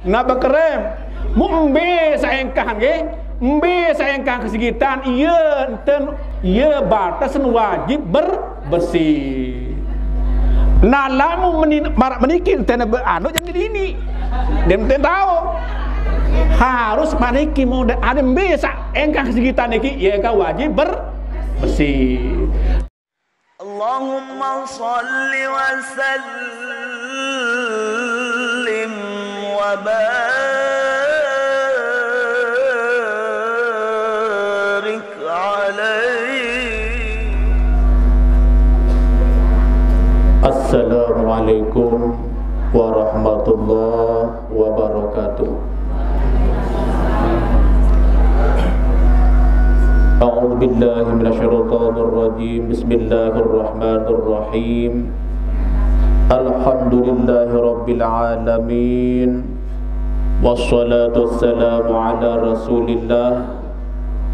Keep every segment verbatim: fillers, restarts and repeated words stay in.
Nah, bekerem. Mu embe saengkah nggih. Embe saengkah kesegitan, iya enten, iya batas wajib berbersih. Nah, lamun meni-, marak meniki enten be-, anu jadi dini. Dia enten tahu. Harus maniki mode ade embe saengkah kesegitan niki, iya ka wajib berbersih. اللهم صل وسلم وبارك عليه. السلام عليكم ورحمة الله وبركاته. أعوذ بالله من الشيطان الرجيم. بسم الله الرحمن الرحيم. الحمد لله رب العالمين. والصلاة والسلام على رسول الله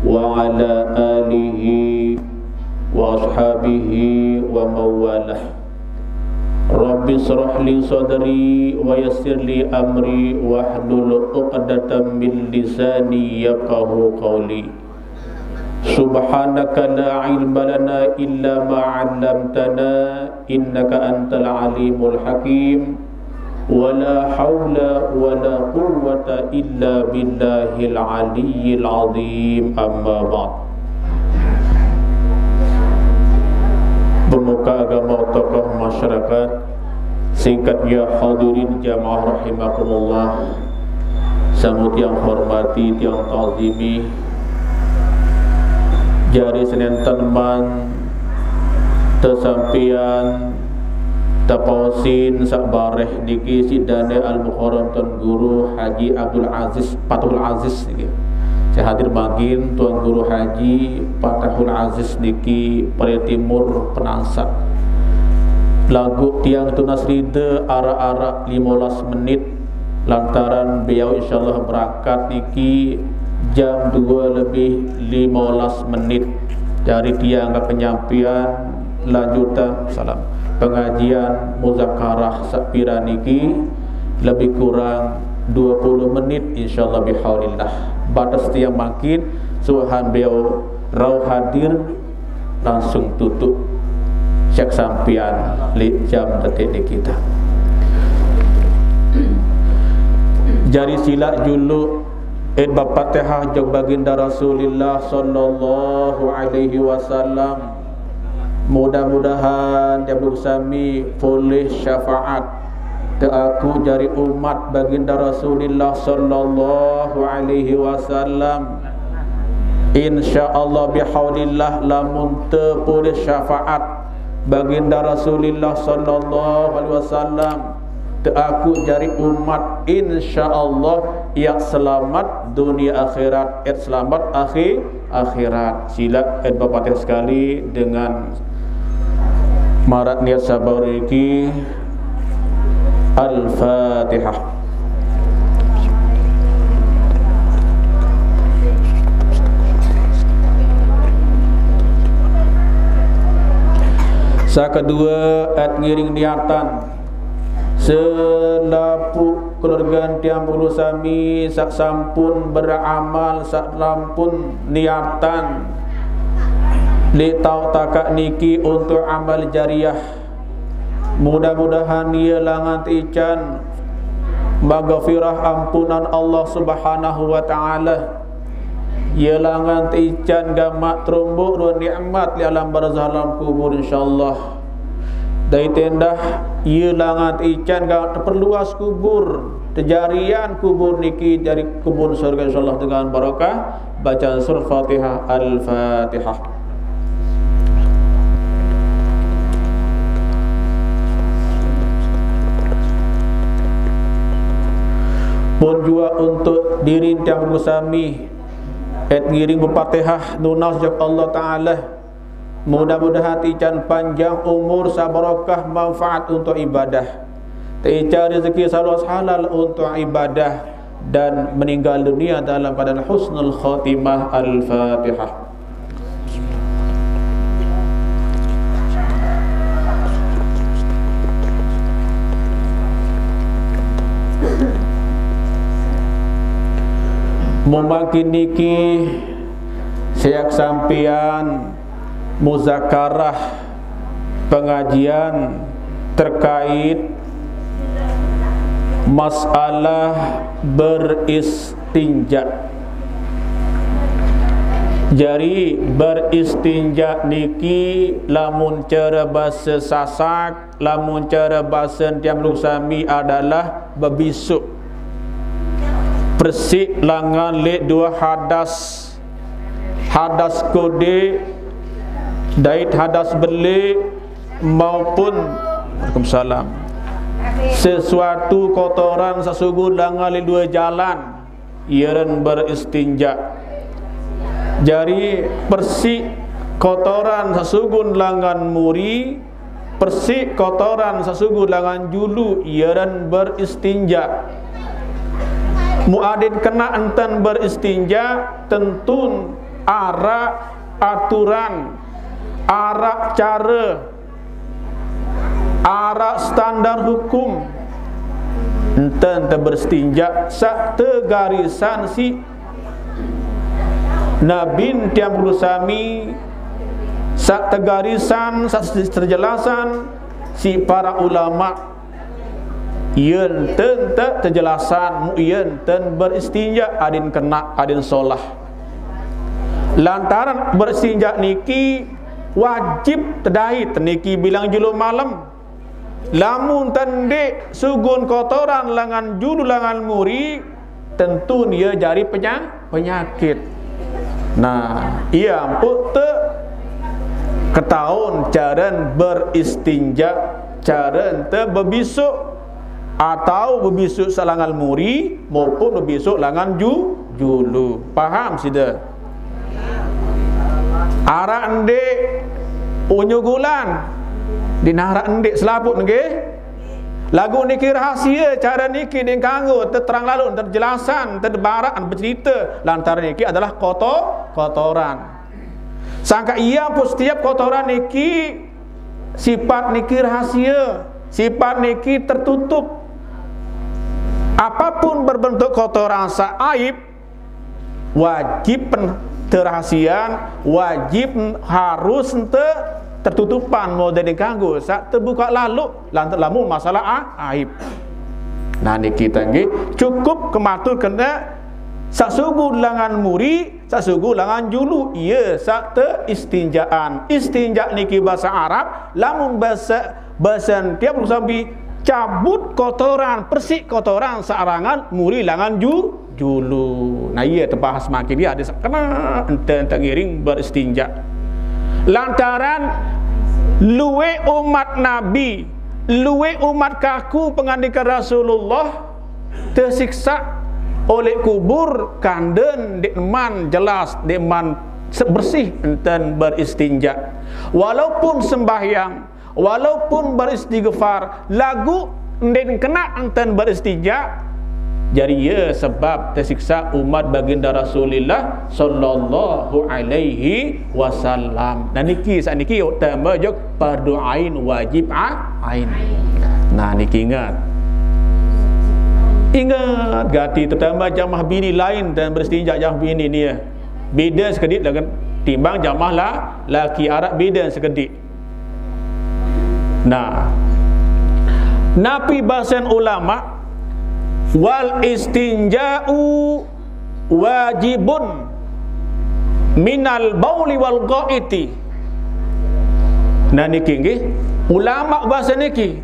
وعلى آله وأصحابه ومن والاه. رب اشرح لي صدري ويسر لي أمري واحلل عقدة من لساني يفقهوا قولي. سبحانك لا علم لنا إلا ما علمتنا إنك أنت العليم الحكيم. ولا حول ولا قوة إلا بالله العلي العظيم. أما بعد. Pemuka agama, tokoh masyarakat, singkat ya hadirin jamaah rahimakumullah, sami tiang hormati, tiang ta'zimi, jari senenten man tesampian tapaosin sak bareh niki siq dane Al-Mukarram Tuan Guru Haji Abdul Aziz Fatahul Aziz niki. Saq hadir mangkin Tuan Guru Haji Fatahul Aziz niki, Pare Timur, Penansak. Laguq tiang tunas ride araq-araq lime belas menit, lantaran beliau insyaallah berangkat niki jam due lebih lime belas menit. Jari tiang ke penyampian lanjutan salam pengajian muzakarah saq piran niki lebih kurang due puluh menit, insyaallah bihaulillah. Bates tiang mangkin, suahan beliau rauh hadir, langsung tutup saq sampian leq jam detik niki. Jari silaq juluq id Bapak Fatihah jok Baginda Rasulillah sallallahu alaihi wasallam. Mudah-mudahan tiang sami polih syafaat teaku jari umat Baginda Rasulillah sallallahu alaihi wasallam. Insyaallah bihaulillah, lamun tepolih syafaat Baginda Rasulillah sallallahu alaihi wasallam, teaku jari umat, insyaallah, yaq selamet dunie akhirat, yaq selamet akhi-, akhirat. Silaq id Bapak Fatihah sekali dengan maraq niat sabar niki. Al-Fatihah. Saq kedue, ed ngiring niatan. Selapuq keluargan tiang pengulu sami saq sampun beramal, saq sampun niatan leq taoq takaq niki untuk amal jariah. Mudah-mudahan ie langan teican maghfirah, ampunan Allah Subhanahu wa Ta'ala. Ie langan teican gamaq teromboq ruen nikmat leq alam barzah, alam kubur, insyaallah. Dait endah ie langan teican gamaq teperluas kubur, tejarian kubur niki jari kebun surga, insyaallah, dengan barokah bacaan Surah Fatihah. Al-Fatihah. Pun juaq untuk diri tiang pengulu sami, ed ngiring befatihah nunas jok Allah Ta'ala. Mudah-mudahan teican panjang umur, saq barokah, manfaat untuk ibadah. Teican rezeki saq luas halal untuk ibadah dan meninggal dunia dalam keadaan husnul khotimah. Al-Fatihah. Mumangkin niki siak sampian muzakarah pengajian terkait masalah beristinja. Jari beristinja niki lamun cara basa Sasak, lamun cara basa tiang sami adalah bebisuk. Persik langan lek dua hadas, hadas kodik dait hadas belik maupun, Waalaikumsalam, sesuatu kotoran sasugun langan lek dua jalan, ia ran beristinja. Jari persik kotoran sasugun langan muri, persik kotoran sasugun langan julu, ia ran beristinja. Muadin kena enten beristinja, tentun arak aturan, arak cara, arak standar hukum. Enten te beristinja sak tegarisan si Nabi tiang sami, sak tegarisan, sak terjelasan si para ulama. Yen ten tak terjelasan, mu yen ten beristinja adin kena, adin solah. Lantaran beristinja niki wajib tedait niki bilang julu malam. Lamun tendik sugun kotoran langan julu langan muri, tentu ia jari penyakit. Nah, ia empuk te ketaun caran beristinja, caran te bebisuk, atau bebisuk selangan muri maupun bebisuk langan ju, julu. Paham sida? Arak endik unyugulan, dinarak endik selaput nggih. Lagu niki rahasia, cara niki dikanggo, terang lalu, terjelasan, terbarak, bercerita. Lantaran niki adalah kotor, kotoran. Sangka ia pun setiap kotoran niki, sifat niki rahasia, sifat niki tertutup. Apapun berbentuk kotoran sa aib, wajib pen-, terahasian, wajib harus ente tertutupan, mau dari ganggu, sa terbuka lalu, lantaran lamun masalah a-, aib. Nah, niki tanggi cukup kematur kena sasugu langan muri, sasugu langan julu, ia sa teristinjaan. Istinja niki bahasa Arab, lamun bahasa, bahasa tiap sampai cabut kotoran, persik kotoran sarangan muri langan ju, julu. Nah, ia terbahas makin dia ada kena ente, ente ngiring beristinja. Lantaran luwe umat Nabi, luwe umat kaku pengandikan Rasulullah tersiksa oleh kubur kanden dek man jelas, dek man se-, bersih enten beristinja. Walaupun sembahyang, walaupun beristighfar, lagu ndin kena enten beristinja, jadi ia sebab tersiksa umat baginda Rasulillah sallallahu alaihi wasallam. Nah, niki, saat niki utama jok fardu ain, wajib a-, ain. Nah, niki ingat. Ingat gati, terutama jamaah bini lain dan beristinja jamaah bini ni ya. Beda sekedit dengan timbang jamaah la-, laki, arak beda sekedit. Nah, napi basen ulama, wal istinja'u wajibun minal bauli wal ghaiti. Nah, niki nggih, ulama bahasa niki,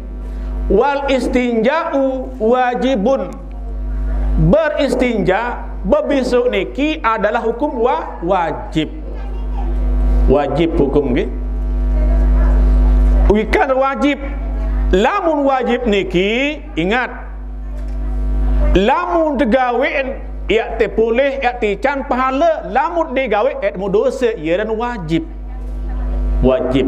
wal istinja'u wajibun. Beristinja, bebisuk niki adalah hukum wa-, wajib. Wajib hukum nggih. Wikan wajib. Lamun wajib niki, ingat, lamun tegawean, ia te pulih, ia te can pahala, lamun digawe, ia mu dosa, ia dan wajib. Wajib.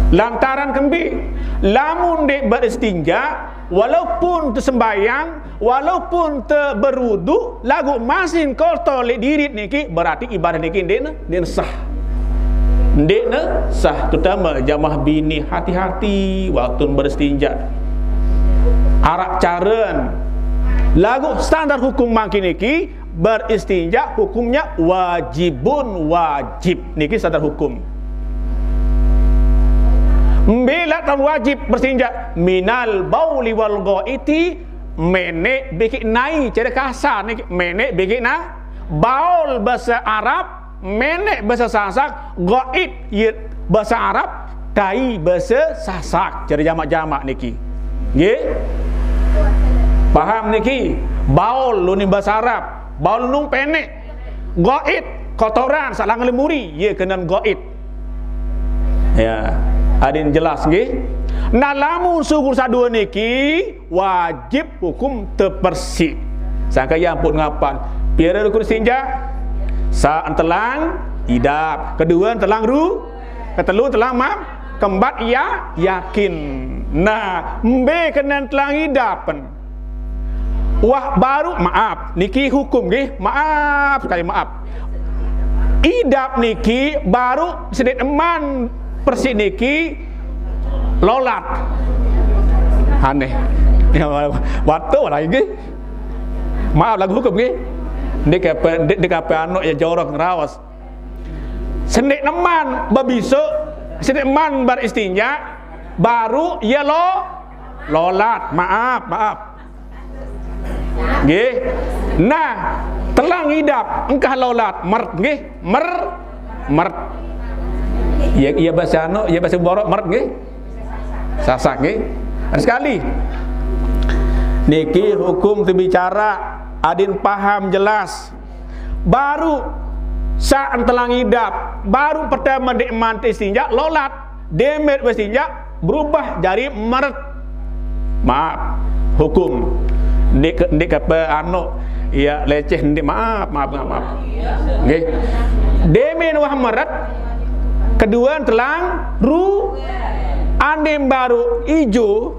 Lantaran kembi, lamun dek beristinja, walaupun tersembayang, walaupun te berudu, lagu masin kotor lek dirit niki, berarti ibadah niki ndik ne, ndik ne sah. Ndik ne sah, terutama jamaah bini, hati-hati waktu beristinja. Arak caren, Laguq standar hukum mangkin niki, beristinja hukumnya wajibun, wajib. Niki standar hukum. Mbe laq tan wajib beristinja? Minal bauli wal ghaiti, meneq biki nai, care kasar niki, meneq biki na. Baul bahasa Arab, meneq bahasa Sasak, ghaid, ye, bahasa Arab, tai bahasa Sasak, care jamaq-jamaq niki. Nggih? Paham niki? Baul lunin bahasa Arab, baul lunin peneq. Ghaid, kotoran, saq langan lemuri, ye kenan ghaid. Ya, adin jelas nggih. Nah, lamun sugul saq due niki wajib hukum tepersiq. Sangke ya ampun ngapan. Pire rukun istinja? Saq entelang idap, kedue entelang ru, ketelu entelang mam, kempat ya yakin. Nah, mbe kenan entelang idapen? Wah, baruq, maaf, niki hukum nggih, maaf sekali, maaf. Idap niki baruq sendeq eman persiq niki lolat. Aneh. Ya, waktu lagi nggih. Maaf, laguq hukum nggih. Ndeq ape, ndeq, ndeq ape anu ya jorok ngeraos. Sendeq eman bebisoq, sendeq eman beristinja, baruq ye lo-, lolat. Maaf, maaf. Nggih. Nah, telang idap, engkah lolat, meret nggih, mer-, meret. Ya, ya bahasa anu, ya bahasa borok meret nggih. Sasak nggih. Ada sekali. Niki hukum tebicara, adin paham jelas. Baruq saq entelang idap, baruq pertame ndeq mante istinja, lolat. Demet wah istinja, berubah jari meret. Maaf, hukum. Ndeq ke, ndeq ke pe anu, ya, leceh ndeq, maaf, maaf, maaf, maaf. Nggih. Demen wah meret, kedue entelang ru, andin baruq ijo,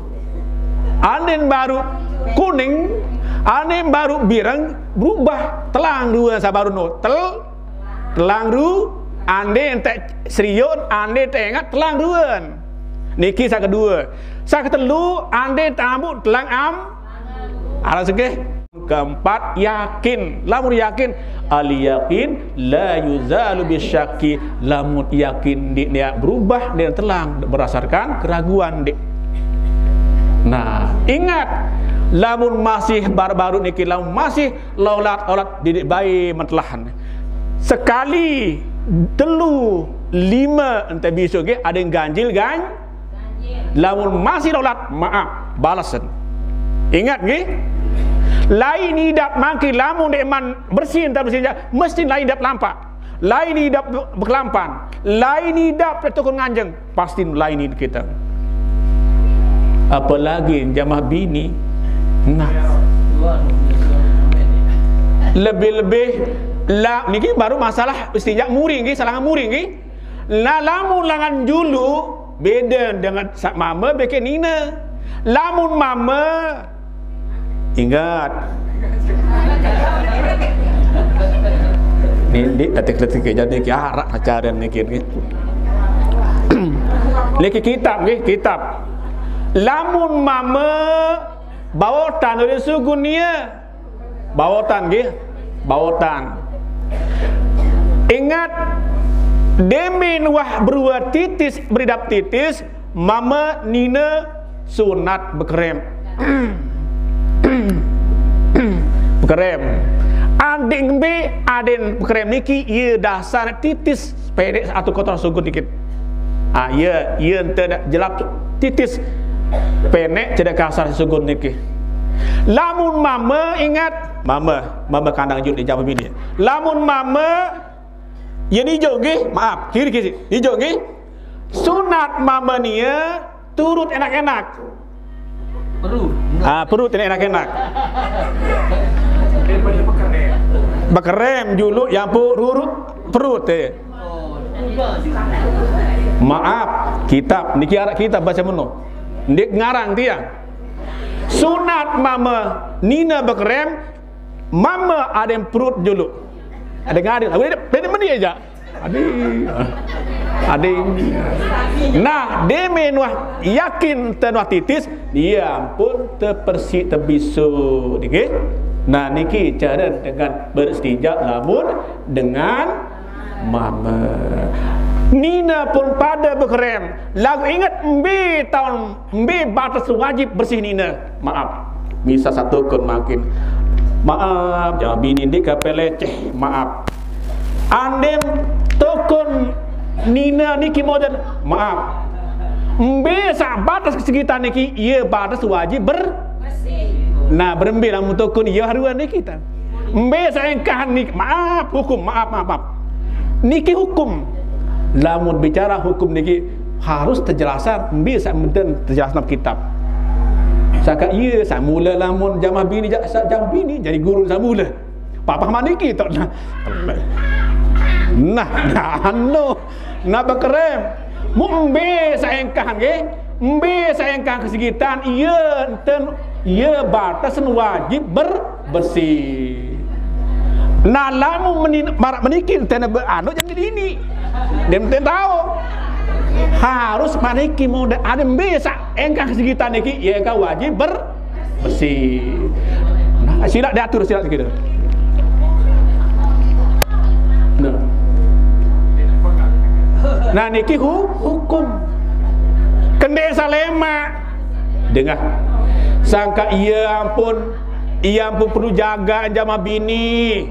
andin baruq kuning, andin baruq bireng, berubah, telang rue saq baruq no. Tel-, telang ru, andin enteq seriun, andin enteq engat, telang ruen. Niki saq kedue. Saq ketelu, andin teq ambuq, telang am-, alas nggih. Keempat, yakin. Lamun yakin, al yakin la yuzalu bisyakki. Lamun yakin ndeq, ndeq berubah, ndeq telang berdasarkan keraguan ndeq. Nah, ingat, lamun masih baruq-baruq niki, lamun masih lolat-lolat, didik bae mentelahan. Sekali, telu, lime, ente bisoq nggih, adin ganjil gan-, lamun masih lolat, maaf, balesen. Ingat nggih, lain idap mangkin lamun ndeqman bersih, entan bersih, mesti lain idap lampaq. Lain idap be-, bekelampan, lain idap tetukun nganjeng, pasti lain kita. Apalagi jamaah bini. Nah. Lebih-lebih la-, niki baruq masalah istinja muri nggih, salangan muri nggih. Nah, lamun langan julu beda dengan saq mame beke nine. Lamun mame, ingat. Nindik detik-detik jadi niki araq pacaran niki, niki. Niki kitab nggih, kitab. Lamun mame baotan ulin sugun nie. Baotan nggih, baotan. Ingat, demen wah berue titis, beridap titis, mame nine sunat bekerem. Bekerem. Adin mbe, adin bekerem niki, ye dasar titis, pendek atau kotor sugun dikit. Ah, ye, ye ente jelap titis. Pendek, cedak kasar sugun niki. Lamun mame, ingat, mame, mame kandang julu di jaman ini. Lamun mame, ye nijo nggih, maaf, kiri, kiri, nijo nggih. Sunat mame nie turut enak-enak. Perut. Ah, perut enak-enak. Bekerem julu, ya ampun, rurut perut, eh. Maaf, kitab niki araq kitab baca meno. Ndeq ngarang tiang. Sunat mame nine bekerem, mame adin perut julu. Adin ngadin, bede meni aja. Ading. Ading. Nah, deme nuah yakin teunuah titis, ie ampun tepersih tebisu. Nggih. Nah, niki cara dengan beristinja lamun dengan mame. Nine pun pada bekerem. Lagu inget mbe taun, mbe batas wajib bersih nine. Maaf. Misal satu kun makin. Maaf, jangan bini ndik kapeleceh. Maaf. Andem tokon nine niki model, maaf. Mbe sak batas kesegitan niki, ie batas wajib ber-, nah, berembe lamun tokon ie haruan niki ta. Mbe sak engkahan niki, maaf, hukum, maaf, maaf, maaf. Niki hukum. Lamun bicara hukum niki harus terjelasan, mbe sak menten terjelasan kitab. Saka ie sak mula lamun jamah bini, ja-, sak jamah bini jadi guru sak mula. Papa maniki tok nah. Nah, nah, anu. Nah, bekerem. Mu mbe saengkah nggih? Mbe saengkah kesegitan, ie enten, ie batas wajib ber-, bersih. Nah, lamun menin-, marak meniki enten be-, anu jadi ini. Dem enten tahu. Harus maniki model ade mbe saengkah kesegitan niki, ie engkah wajib ber-, bersih. Nah, sila diatur, sila kita. Nah. Nah, niki hu-, hukum. Kende salema. Dengah. Sangka ie ampun, ie ampun perlu jaga jamah bini.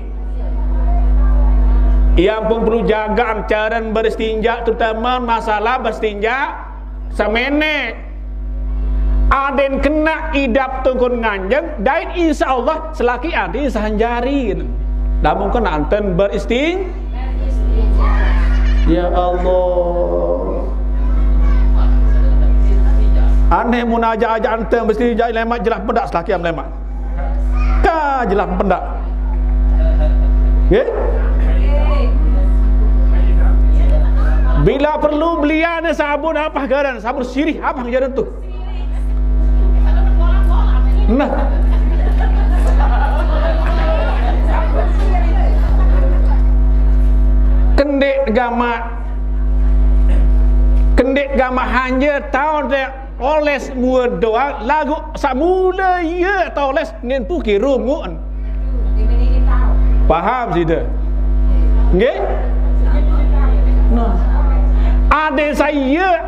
Ie ampun perlu jaga cara beristinja, terutama masalah beristinja semene. Aden kena idap tungkun nganjeng, dait insya Allah selaki aden sahanjari. Lamun kena enten beristing-, ya Allah. Aneh mun aja-aja enten beristinja lemak jelah pedak selaki am lemak. Ka jelah pendak. Nggih? Bila perlu belian sabun apa garan? Sabun sirih apa garan tuh? Nah. Kendek gamak. Kendek gamak hanja taun teh oles muat doang, lagu samula ie toles nin puki rungun. Paham sida? Nggih? Nah. Ade saya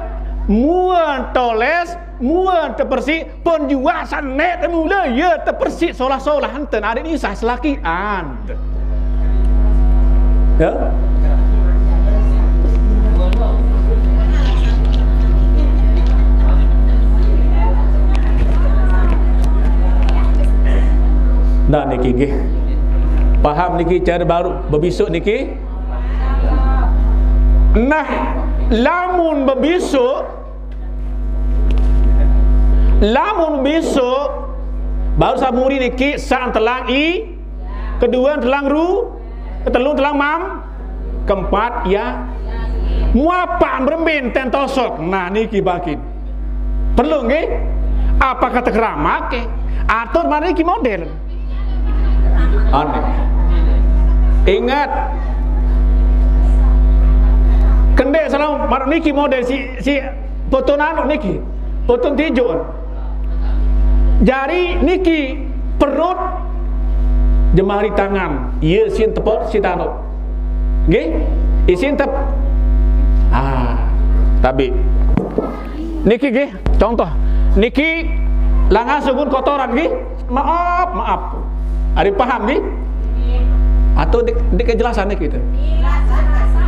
muat toles, muat tepersih, pun jua sanet mula ie tepersih solah-solah enten ade ni sah selakian. Ya. Nah, niki nggih. Paham niki cara baru bebisuk niki? Nah, lamun bebisuk, lamun bebisuk, baru samuri niki sa telang i, kedua telang ru, ketelun telang mam, keempat ya. Muapak berembin ten tosok. Nah, niki bakin. Perlu nggih? Apa kata keramak ke? Atur mari ki model. Aneh. Ingat. Kendek salam maruk niki model si, si foto nanu niki. Foto tijuk. Jari niki perut jemari tangan. Iya sin tepuk si tanuk. Nggih? Isin tep. Ah, tabi. Niki nggih, contoh. Niki langan sugun kotoran nggih. Maaf, maaf. Ada paham nggih? Atau di, di kejelasan niki itu.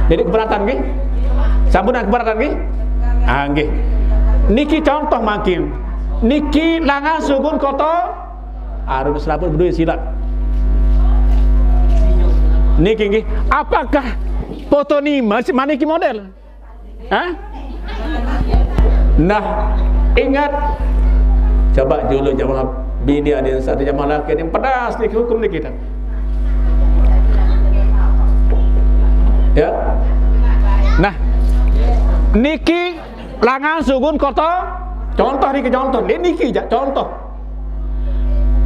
Jadi keberatan nggih. Sampun keberatan nggih? Ah, nggih. Niki contoh makin. Niki langan sugun kotor. Arun selaput berdua sila. Niki nggih. Apakah foto ni masih maniki model? Hah? Nah, ingat. Coba dulu jamaah bini ada yang satu jamaah laki yang pedas niki hukum niki kita. Ya. Nah, niki langan sugun kotor. Contoh niki contoh. Ini niki jak contoh.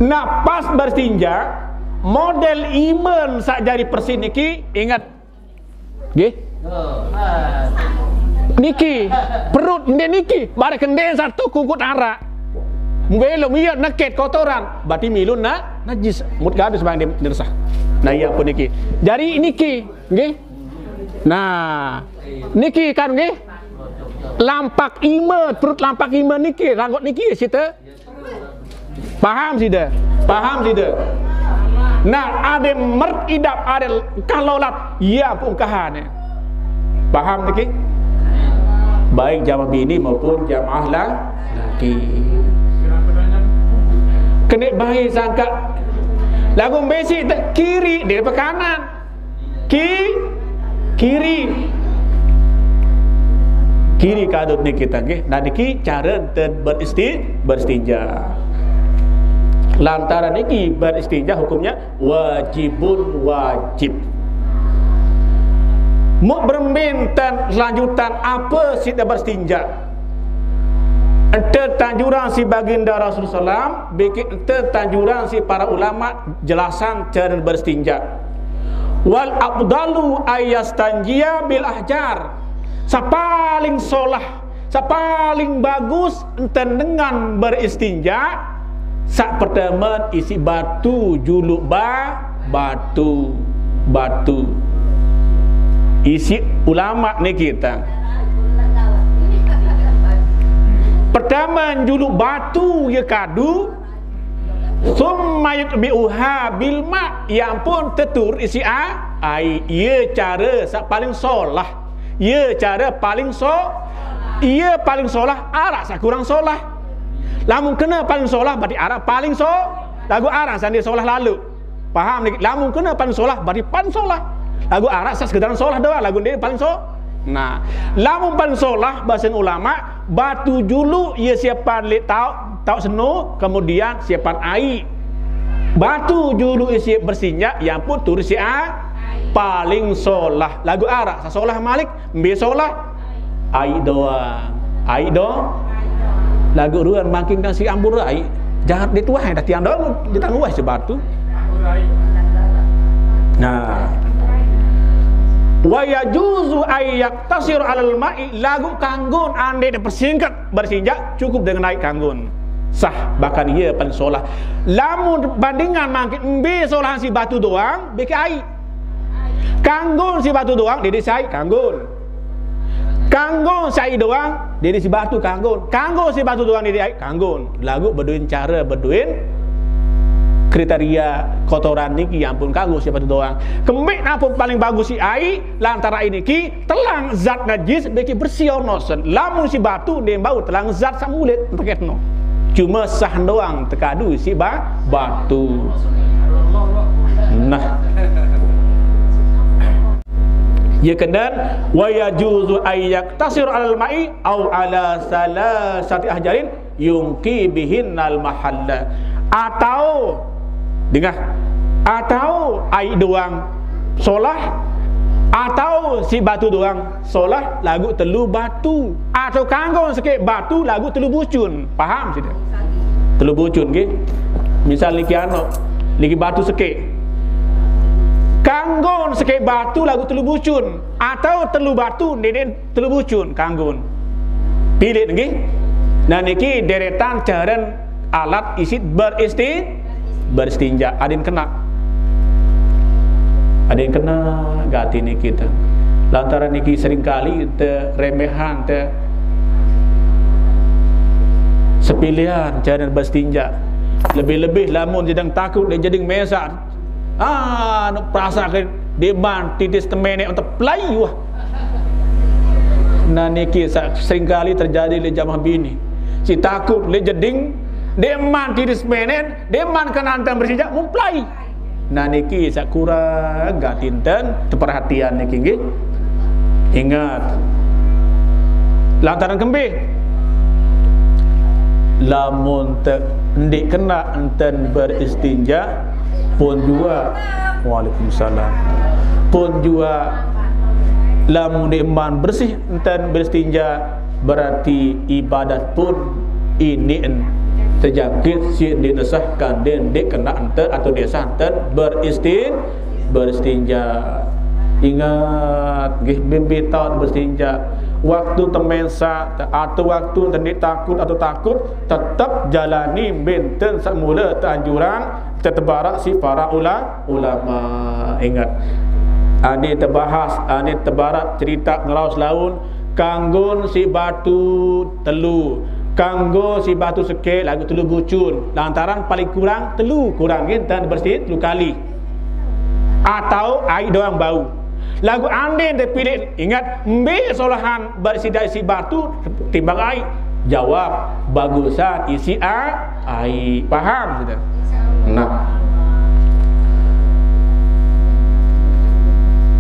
Nah, pas bertinja model iman sak jari persis niki ingat. Nggih. Niki, perut ndeq niki, bareh kendeng satu kungkut araq. Belum iya neket kotoran, berarti milun na, najis. Mut gadus bang dia, dia resah. Nah, iya pun niki. Jari niki, nggih. Nah, niki kan nggih. Lampak ime, perut lampak ime niki, ranggot niki site. Paham side? Paham side? Nah, ade mert idap, ade engkah lolat, iya pun engkahane. Paham niki? Baik jamaah bini maupun jamaah la-, laki. Kene bae sangka. Lagu besi te kiri, dia pe kanan. Ki-, kiri. Kiri kadut niki tang nggih. Nah, niki cara enten beristi-, beristinja. Lantaran niki beristinja hukumnya wajibun wajib. Muk berembe enten lanjutan ape side beristinja. Ente tanjuran si baginda Rasulullah sallam, biki ente tanjuran si para ulama jelasan cara beristinja. Wal afdalu ayastanjia bil ahjar. Sapaling solah, sapaling bagus enten dengan beristinja, sak pertama isi batu juluk ba-, batu, batu. Isi ulama niki tang. Pertama juluk batu ye kadu, summa yutbi'uha bil ma, ye ampun tetur isi a-, ai, ye cara sak paling solah. Ye cara paling so-, ye paling solah, araq sak kurang solah. Lamun kena paling solah, berarti araq paling so-, lagu araq sandi solah lalu. Paham niki? Lamun kena paling solah, berarti paling solah. Lagu araq sak sekedar solah doang, lagu ndeq paling so-, nah, lamun paling solah, basen ulama, batu juluk ye siapan leq taoq, taoq seno, kemudian siapan aiq. Batu juluk ye siap beristinja, ye ampun turun siap a-, paling solah. Lagu araq sak solah malik, mbe solah? Aiq doang. Aiq do-, lagu ruan makin kan si ambur aiq. Jahat dia tuah dah tiang doang, dia tangguh si batu. Nah. Wa yajuzu ay yaktasir alal ma'i, lagu kanggon ande dipersingkat, beristinja cukup dengan aiq kanggon. Sah, bahkan iya paling solah. Lamun bandingan mangkin mbe solahan si batu doang, beke aiq. Kanggon si batu doang, dede si aiq kanggon. Kanggon si aiq doang, dede si batu kanggon. Kanggon si batu doang, dede aiq kanggon. Lagu bedoin cara, bedoin kriteria kotoran niki, ye ampun kanggon si batu doang. Kembeq nampun paling bagus si aiq, lantaran aiq niki telang zat najis, beke bersih ono sen. Lamun si batu ndeq bau telang zat saq mulit, teketno. Cume sah doang tekadu si ba-, batu. Nah. Ye kenden, wa yajuzu ay yaktasir alal ma'i au ala salasati ahjarin yungki bihinnal mahalla. Atau, dengah, atau aiq doang solah, atau si batu doang solah, lagu telu batu, atau kanggon sekeq batu, lagu telu bucun. Paham side? Telu bucun nggih. Misal niki ano, niki batu sekeq. Kanggon sekeq batu lagu telu bucun, atau telu batu ndeqn telu bucun kanggon. Pilit nggih. Nah, niki deretan caren alat isit beristi-, beristinja. Adin kena. Adin kena gati niki te. Lantaran niki seringkali te remehan te sepilihan caren beristinja. Lebih-lebih lamun jedeng takut leq jeding mesaq. Ah, nuk perasake deqman titis temeneq ente pelai wah. Nah, niki saq seringkali terjadi leq jamaah bini. Si takut leq jeding, deqman titis temeneq, deqman kenanten beristinja, mun pelai. Nah, niki saq kurang gati nten teperhatian niki nggih. Ingat. Lantaran kembe? Lamun te ndeq kena nten beristinja, pun jua. Waalaikumsalam. Pun jua lamun ndeqman bersih nten beristinja, berarti ibadat pun iniqn tejangkit siq ndeqn sah kanden ndeq kena nten atau ndeq sah nten beristi-, beristinja. Ingat, nggih, bin bitaun berstinja. Waktu temesa, atau waktu tenik takut atau takut, tetap jalani binten semula teanjuran, tetebarak si para ula-, ulama. Ingat, ane tebahas, ane tebarak cerita ngeraos laun, kanggon si batu telu, kanggo si batu sekek lagu telu bucun, lantaran paling kurang telu, kurang nggih, ten bersih telu kali. Atau ai doang bau. Lagu andin dipilih, ingat, mbe solahan bersih dari si batu timbang ai. Jawab, bagusan isi a-, ai. Paham sudah? Nah.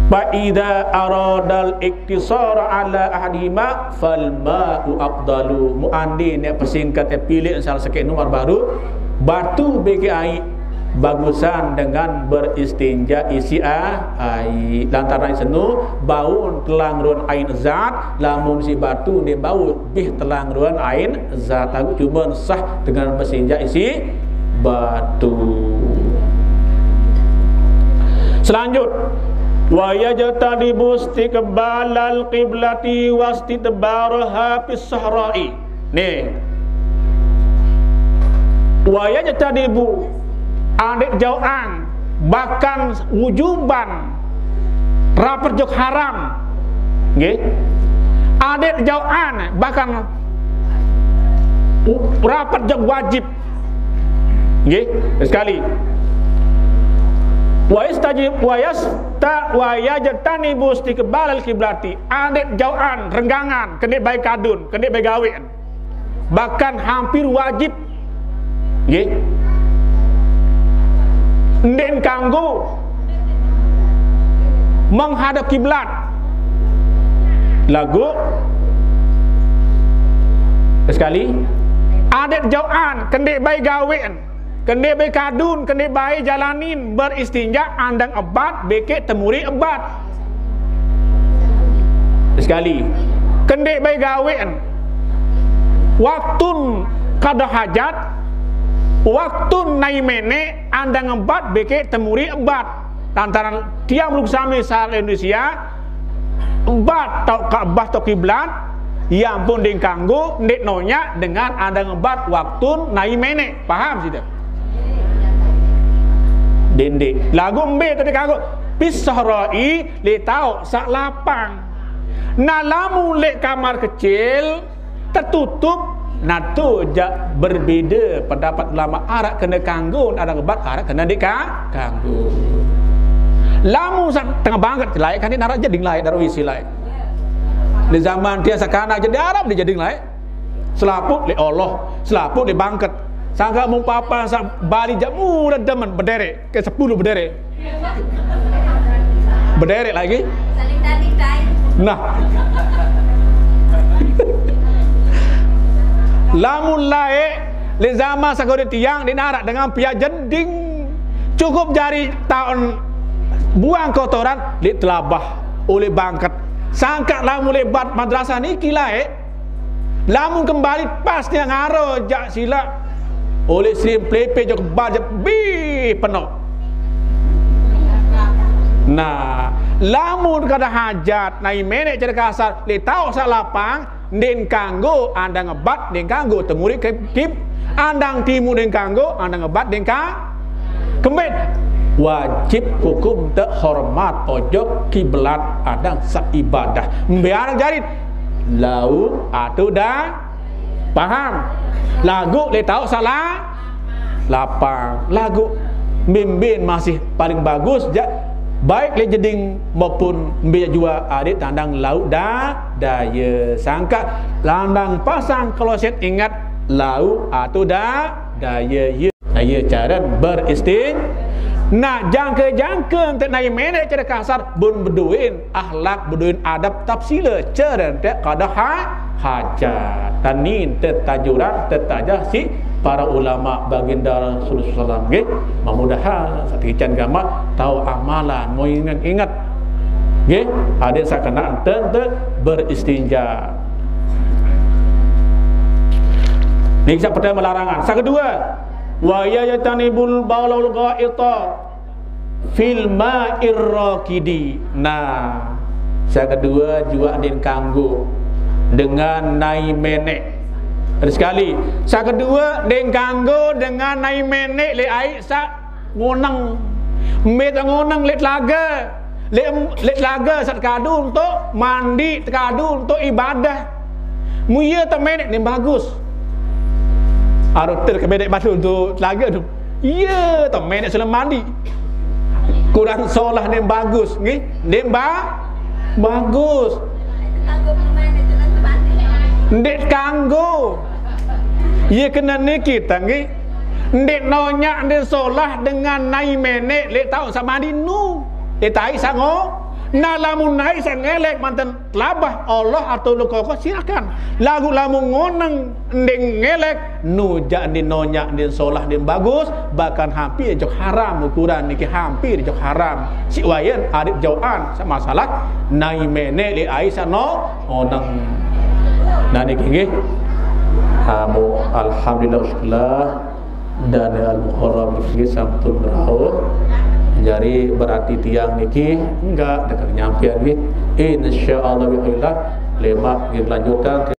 Fa idza aradal iktisara ala ahadihima fal ma'u afdalu. Mu andin ya persingkat ya pilih salah sekek nomor baru, batu beke ai bagusan dengan beristinja isi a-, ai. Lantaran senu, baun telang ruan ain zat, lamun si batu ne baun bih telang ruan ain zat. Aku cuma sah dengan beristinja isi batu. Selanjut, wa yajtanibu istiqbalal qiblati wastidbaraha fis sahra'i. Nih. Wa yajtanibu, adik jauhan, bahkan wujuban, rapat jok haram. Nggih. Adik jauhan, bahkan u-, rapat jok wajib. Nggih, sekali. Wa yastajib, wa yasta-, wa yajtanibu istiqbalal kiblati. Adik jauhan, renggangan, kene baik kadun, kene baik gawe. Bahkan hampir wajib. Nggih. Ndek kanggo menghadap kiblat. Lagu sekali, adik jauhan, kene baik gawe. Kene bae kadun, kene bae jalanin, beristinja andang ebat, beke temuri ebat. Sekali, kene bae gawen. Waktun kada hajat, waktun nai mene andang ebat, beke temuri ebat. Lantaran tiang belum sami sahal Indonesia, ebat tau Ka'bah tau kiblat, ya ampun ding kanggo, ndik nonya dengan andang ebat waktun nai mene. Paham sida? Dendik. Lagu embe tadi kanggo. Fis sahra'i, le tau sak lapang. Nah, lamun lek kamar kecil, tertutup, nah tu jak berbeda pendapat ulama, arak kena kanggo andang ebat, arak kena ndik ka-, kanggo. Lamun sak tengah banget, lae kan dia narak jeding lae, narak isi lae. Di zaman dia sakanak jadi Arab dia jeding lae. Selaput le Allah, selaput le bangket. Sangka mun papa sak bali jak murah demen berderet, ke sepuluh berderet. Berderet lagi. Saling tali tai. Nah. Lamun lae, le zaman sagode tiang di narak dengan pihak jeding. Cukup jari taun buang kotoran, le telabah oleh bangket. Sangka lamun le bat madrasah niki lae, lamun kembali pas dia ngaro jak sila. Oleh sering pelepe jok bajep bih penuh. Nah, lamun kada hajat, nai menek cara kasar, le tau sak lapang, ndin kanggo andang ebat, ndin kanggo temuri ke kib, andang timu ndin kanggo, andang ebat ndin ka kembet. Wajib hukum te hormat ojok kiblat andang saibadah. Mbiar jarit. Lau atau dah paham. Lagu le tau salah lapang. Lagu mimbin masih paling bagus ja, baik le jeding maupun mbe jua adik tandang lauk da daya. Sangka landang pasang kloset, ingat lauk atau da daya. Ya. Nah, ya caran beristin. Nah, jangka-jangka ente nai menek cara kasar, bun beduin akhlak, beduin adab, tapsila cara ente kada ha-, hajat. Dan ni ente tajuran, ente tajah si para ulama baginda Rasulullah sallallahu alaihi wasallam, nggih. Mudah-mudahan sakican gamat tau amalan, mau ingat-ingat. Nggih, adik sakena ente, ente beristinja. Ni kisah pertama larangan. Sa kedua, wa yajtanibul baulal ghaita. Fil ma'ir rakidi. Nah, saq kedue juaq ndeqn kanggo dengan nai meneq. Terus sekali, saq kedue ndeqn kanggo dengan nai meneq leq aiq saq ngoneng. Mbe taoq ngoneng? Leq telage. Leq, leq telage saq tekadu untuk mandi, tekadu untuk ibadah. Mun ie temeneq ndeqn bagus. Arep tel kemeneq batu untuk telage tu. Ie temeneq selem mandi. Kurang solah ndeqn bagus, nggih? Ndeqn ba-, bagus. Ndeq kanggo. Ie kene niki ta, nggih. Ndeq nonyaq ndeqn solah dengan nai meneq leq taoq saq mandi nu. Leq aiq saq ngo-, nah, lamun aiq saq ngeleq manten telabah Allah atau lukoko, silakan. Laguq lamun ngoneng ndeq ngeleq, nu jaq ndeqn nonyaq ndeqn solah ndeqn bagus, bahkan hampir jok haram, ukuran niki hampir jok haram. Siq wayen arep jaoqan saq masalah nai meneq leq aiq saq no-, ngoneng. Nah, niki nggih. Amu, alhamdulillah, syukurlah. Dan Al-Muharram niki sampun rauh. Jari berarti tiang niki enggak dekat nyampean nggih. Insyaallah, bi'illah, lemaq nggih lanjutan.